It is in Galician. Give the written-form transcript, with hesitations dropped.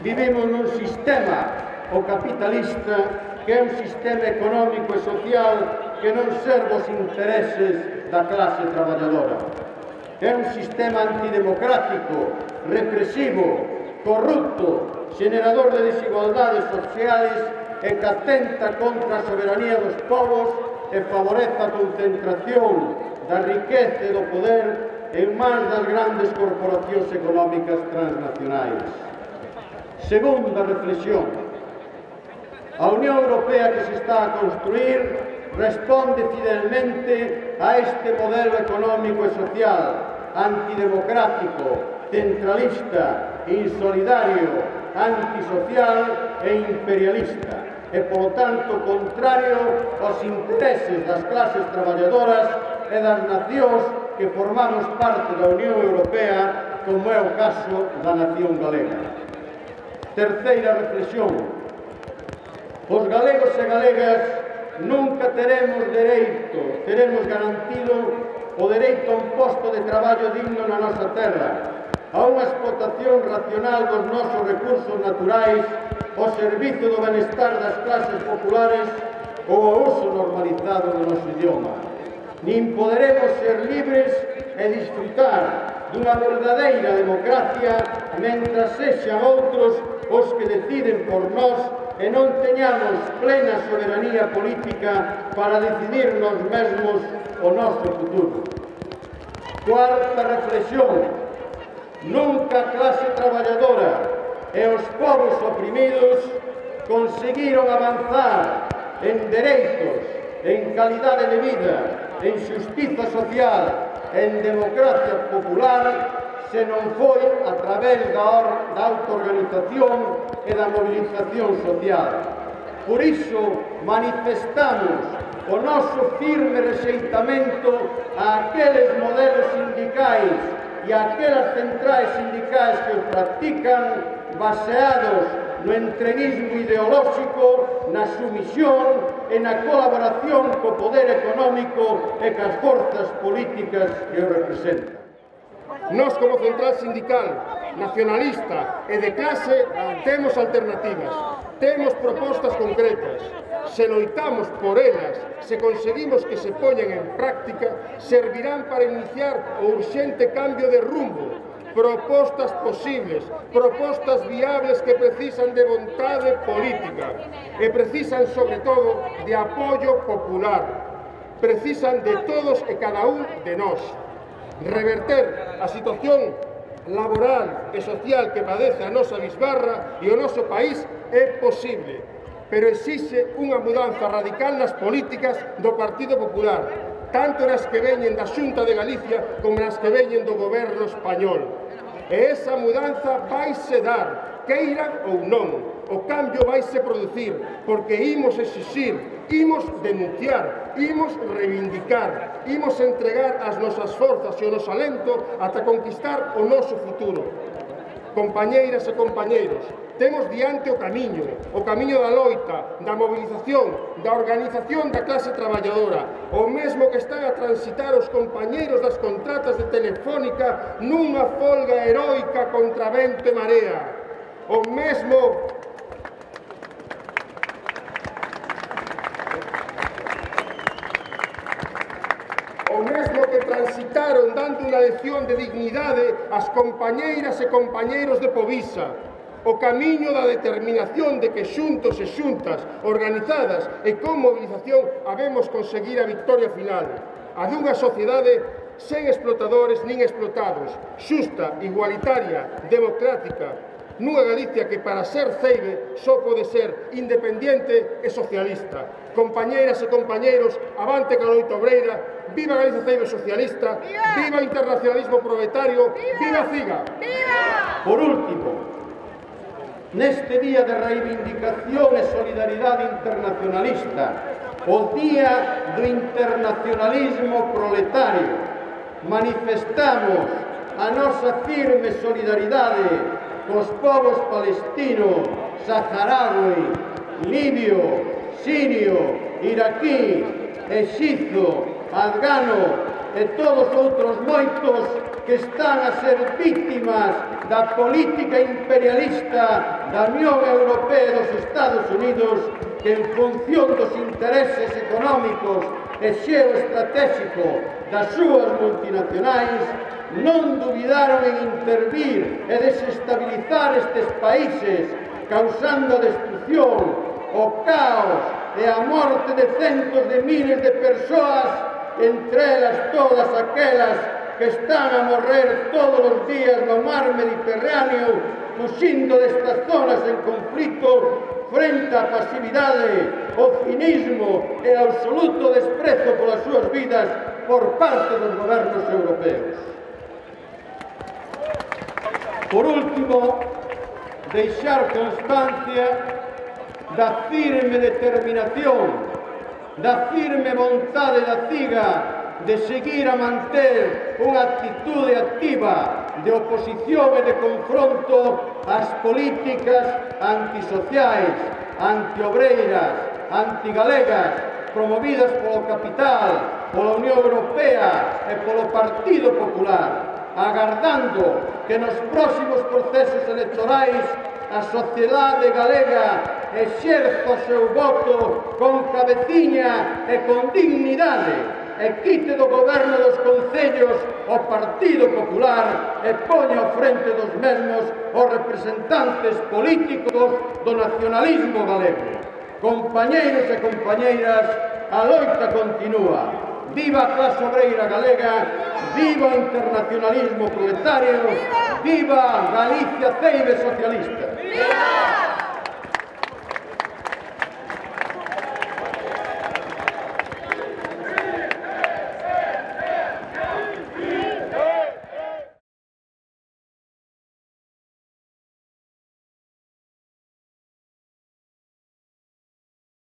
Vivimos nun sistema, o capitalista, que é un sistema económico e social que non serve os intereses da clase traballadora. É un sistema antidemocrático, represivo, corrupto, xenerador de desigualdades sociales e que atenta contra a soberanía dos povos e favorece a concentración da riqueza e do poder en mans das grandes corporacións económicas transnacionais. Segunda reflexión. A Unión Europea que se está a construir responde fidelmente a este modelo económico e social antidemocrático, centralista, insolidario, antisocial e imperialista e, polo tanto, contrario aos intereses das clases traballadoras e das nacións que formamos parte da Unión Europea, como é o caso da nación galega. Terceira reflexión. Os galegos e galegas nunca teremos garantido o dereito a un posto de traballo digno na nosa terra, a unha explotación racional dos nosos recursos naturais, ao servizo do benestar das clases populares ou ao uso normalizado do noso idioma. Nin poderemos ser libres e disfrutar dunha verdadeira democracia mentras sexan outros os que deciden por nós e non teñamos plena soberanía política para decidir nós mesmos o noso futuro. Cuarta reflexión. Nunca a clase traballadora e os povos oprimidos conseguiron avanzar en dereitos, en calidade de vida, en xustiza social, en democracia popular, se non foi a través da autoorganización e da movilización social. Por iso manifestamos o noso firme rexeitamento a aqueles modelos sindicais e a aquelas centrais sindicais que os practican baseados no entreguismo ideolóxico, na sumisión e na colaboración co poder económico e cas forzas políticas que o representan. Nós, como central sindical, nacionalista e de clase, temos alternativas, temos propostas concretas. Se loitamos por elas, se conseguimos que se poñen en práctica, servirán para iniciar o urxente cambio de rumbo. Propostas posibles, propostas viables que precisan de vontade política e precisan, sobre todo, de apoio popular. Precisan de todos e cada un de nós. Reverter a situación laboral e social que padece a nosa bisbarra e o noso país é posible, pero exixe unha mudanza radical nas políticas do Partido Popular, tanto nas que veñen da Xunta de Galicia como nas que veñen do goberno español. E esa mudanza vaise dar, queiran ou non. O cambio vaise producir, porque imos exixir, imos denunciar, imos reivindicar, imos entregar as nosas forzas e o noso alento ata conquistar o noso futuro. Compañeiras e compañeiros, temos diante o camiño da loita, da movilización, da organización da clase traballadora, o mesmo que están a transitar os compañeiros das contratas de Telefónica nunha folga heroica contra vento e marea, o mesmo que transitaron dando unha lección de dignidade ás compañeiras e compañeiros de Povisa, o camiño da determinación de que xuntos e xuntas, organizadas e con movilización, habemos conseguir a victoria final, a dunha sociedade sen explotadores nin explotados, xusta, igualitaria, democrática, nunha Galicia que para ser ceibe só pode ser independiente e socialista. Compañeiras e compañeiros, avante ca loita obreira, viva Galicia ceibe socialista, viva o internacionalismo proletario, viva a CIGA! Por último, neste día de reivindicación e solidaridade internacionalista, o día do internacionalismo proletario, manifestamos a nosa firme solidaridade cos povos palestino, saharaui, libio, sirio, iraquí, exizo, afgano, e todos outros moitos que están a ser vítimas da política imperialista da Unión Europea e dos Estados Unidos, que en función dos intereses económicos e xeoestratégicos das súas multinacionais non dubidaron en intervir e desestabilizar estes países, causando a destrucción, o caos e a morte de centos de miles de persoas, entre elas todas aquelas que están a morrer todos os días no mar Mediterráneo, fuxindo destas zonas en conflito frente á pasividade, o cinismo e o absoluto desprezo polas súas vidas por parte dos gobernos europeos. Por último, deixar constancia da firme determinación, da firme vontade da CIGA de seguir a manter unha actitude activa de oposición e de confronto ás políticas antisociais, antiobreiras, antigalegas, promovidas polo capital, pola Unión Europea e polo Partido Popular, agardando que nos próximos procesos electorais a sociedade galega exerza o seu voto con cabeciña e con dignidade, e quite do goberno dos concellos o Partido Popular e poña ao frente dos mesmos os representantes políticos do nacionalismo galego. Compañeiros e compañeiras, a loita continúa. Viva a clase obreira galega, viva o internacionalismo proletario, viva Galicia Ceibe socialista.